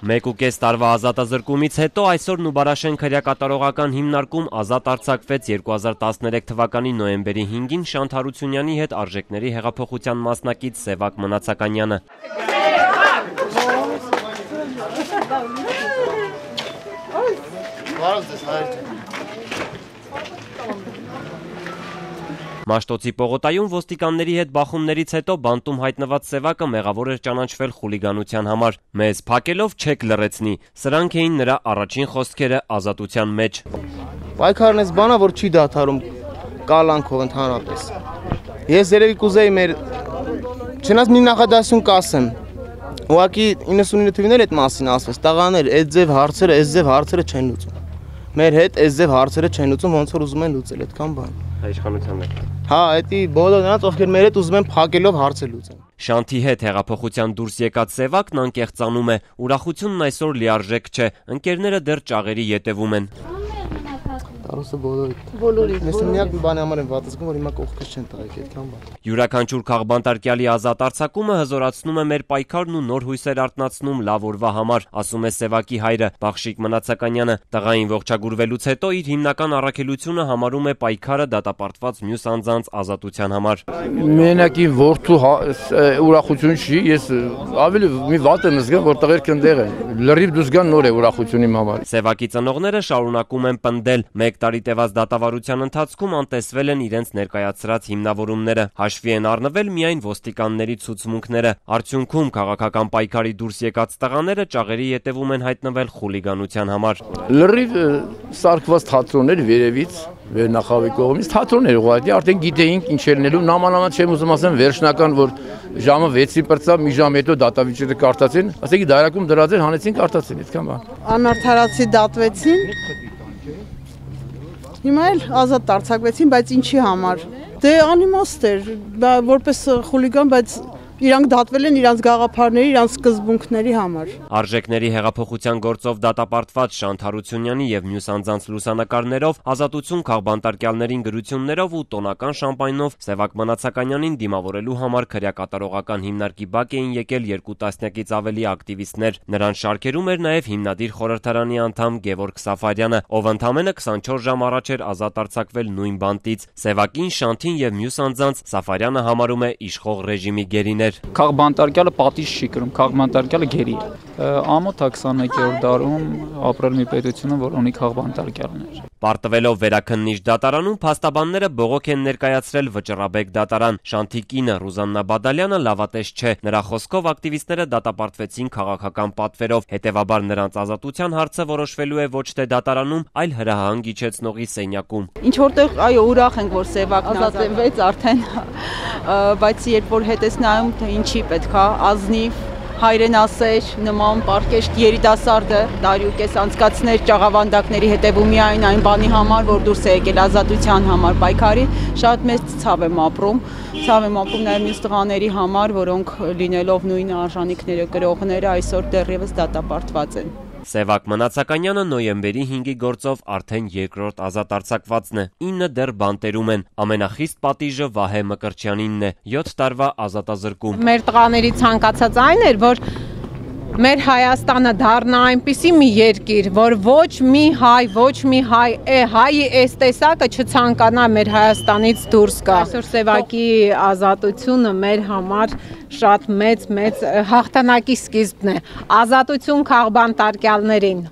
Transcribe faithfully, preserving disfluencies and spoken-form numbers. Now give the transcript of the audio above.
Մեկ ու կես տարվա ազատազրկումից հետո այսօր Նուբարաշեն քրեակատարողական հիմնարկում ազատ արձակվեց երկու հազար տասներեք թվականի նոյեմբերի հինգին Շանթ Հարությունյանի հետ արժեքների հեղափոխության մասնակից Սևակ Մնացականյանը։ Մաշտոցի պողոտայում ոստիկանների հետ բախումներից հետո բանտում հայտնված Սևակը մեղավոր էր ճանաչվել խուլիգանության համար։ Մեզ փակելով չեք լռեցնի, սրանք էին նրա առաջին խոսքերը ազատության մեջ։ Պայքարն էս բանա, որ չի դադարում կալանքով ընդհանրապես։ Ես երևի կուզեի մեր չնայած մի նախադասություն կասեմ։ Ուղղակի իննսունինը թվիներ այդ մասին ասվեց, տղաներ, այդ ձև հարցերը, այս ձև հարցերը չեն լուծում։ Մեր հետ այս ձև հարցերը չեն լուծում, ոնց որ ուզում են լուծել, այդքան բան։ Իշխանության հետ։ Հա, էդի բոլոր նրանց, ովքեր մեր հետ ուզում են փակելով հարցը լուծեն։ Շանթի հետ հեղափոխության դուրս եկած Սևակն անկեղծանում է, ուրախությունն այսօր լիարժեք չէ, ընկերները դեռ ճաղերի ետևում են։ Տարուսը բոլորի։ Ես միակ բանի համար եմ վատացնում, որ հիմա կողքից չեն տալի, այդքան բան։ Յուրաքանչյուր քաղբանտարկյալի ազատ արձակումը հզորացնում է մեր պայքարն ու նոր հույսեր արթնացնում լավ օրվա համար, ասում է Սևակի հայրը Բախշիկ Մնացականյանը։ Տղային ողջագուրվելուց հետո իր հիմնական առաքելությունը համարում է պայքարը դատապարտված մյուս անձանց ազատության համար։ Մենակի որդու ուրախություն չի, ես ավելի մի վատ եմ զգում, որ տղերքը ընդեղ են։ Լրիվ դուրս գան նոր է ուրախություն իմ համար։ Սևակի ծնողները շարունակում են պնդել, մեկ տարի տևած դատավարության ընթացքում անտեսվել են իրենց ներկայացրած հիմնավորումները, հաշվի են առնվել միայն ոստիկանների ցուցմունքները։ Արդյունքում քաղաքական պայքարի դուրս եկած տղաները ճաղերի ետևում են հայտնվել խուլիգանության համար։ Լրիվ սարքված թատրոններ վերևից, վերնախավի կողմից թատրոններ ուղղակի արդեն գիտեինք ինչ էր լինելու, նամանավանդ չեմ ուզում ասեմ վերջնական, որ ժամը վեցին պրծավ, մի ժամ հետո դատավիճերը կարդացին, ասեցի դարակում դրած էր, հանեցին կարդացին, այդքան բան։ Անարդարացի դատվեցին։ Հիմա էլ ազատ արձակվեցին, բայց ինչի համար։ Դե անիմաստ էր, որպես խուլիգան, բայց իրանք դատվել են իրանց գաղափարների, իրանց սկզբունքների համար։ Արժեքների հեղափոխության գործով դատապարտված Շանթ Հարությունյանի եւ մյուս անձանց լուսանկարներով, ազատություն քաղբանտարկյալներին գրություններով ու տոնական շամպայնով Սևակ Մնացականյանին դիմավորելու համար քրեակատարողական հիմնարկի բակ էին եկել երկու տասնյակից ավելի ակտիվիստներ։ Նրանց շարքերում էր նաեւ հիմնադիր խորհրդարանի անդամ Գևորգ Սաֆարյանը, ով ընդամենը քսանչորս ժամ առաջ էր ազատ արձակվել նույն բանտից։ Սևակին, Շանթին եւ մյուս անձանց Սաֆարյանը համարում է իշխող ռեժիմի գերիներ։ Քաղբանտարկյալը պատիժ չի կրում, քաղբանտարկյալը գերի է։ Ամոթ քսաներկերորդ դարում ապրել մի պետությունը, որ ունի քաղբանտարկյալներ։ Պարտվելով վերաքննիչ դատարանում փաստաբանները բողոք են ներկայացրել Վճռաբեկ դատարան։ Շանթի կինը Ռուզաննա Բադալյանը լավատես չէ։ Նրա խոսքով ակտիվիստները դատապարտվեցին քաղաքական պատվերով, հետևաբար նրանց ազատության հարցը որոշվելու է ոչ թե դատարանում, այլ հրահանգ իջեցնողի սենյակում։ Ինչ որտեղ այո ուրախ ենք, որ Սևակն ազատվեց արդեն, բայց երբ որ հետ ես նայում, թե ինչի պետքա ազնիվ հայրենասեր նման պարկեշտ երիտասարդը տարի ու կես անցկացներ ճաղավանդակների հետևում միայն այն բանի համար, որ դուրս է եկել ազատության համար պայքարի, շատ մեծ ցավ եմ ապրում, ցավ եմ ապրում նաև մյուս տղաների համար, որոնք լինելով նույն արժանինքները կրողները այսօր դեռևս դատապարտված են։ Սևակ Մնացականյանը նոյեմբերի հինգի գործով արդեն երկրորդ ազատ արձակվածն է, ինը դեռ բանտերում են, ամենախիստ պատիժը Վահե Մկրտչյանինն է, յոթ տարվա ազատազրկում։ Մեր տղաների ցանկացած այն էր, որ մեր Հայաստանը դառնա այնպիսի մի երկիր, որ ոչ մի հայ, ոչ մի հայ, է հայի այս տեսակը չցանկանա մեր Հայաստանից դուրս գա։ Այսօր Սևակի ազատությունը մեր համար շատ մեծ մեծ հաղթանակի սկիզբն է։ Ազատություն քաղբանտարկյալներին։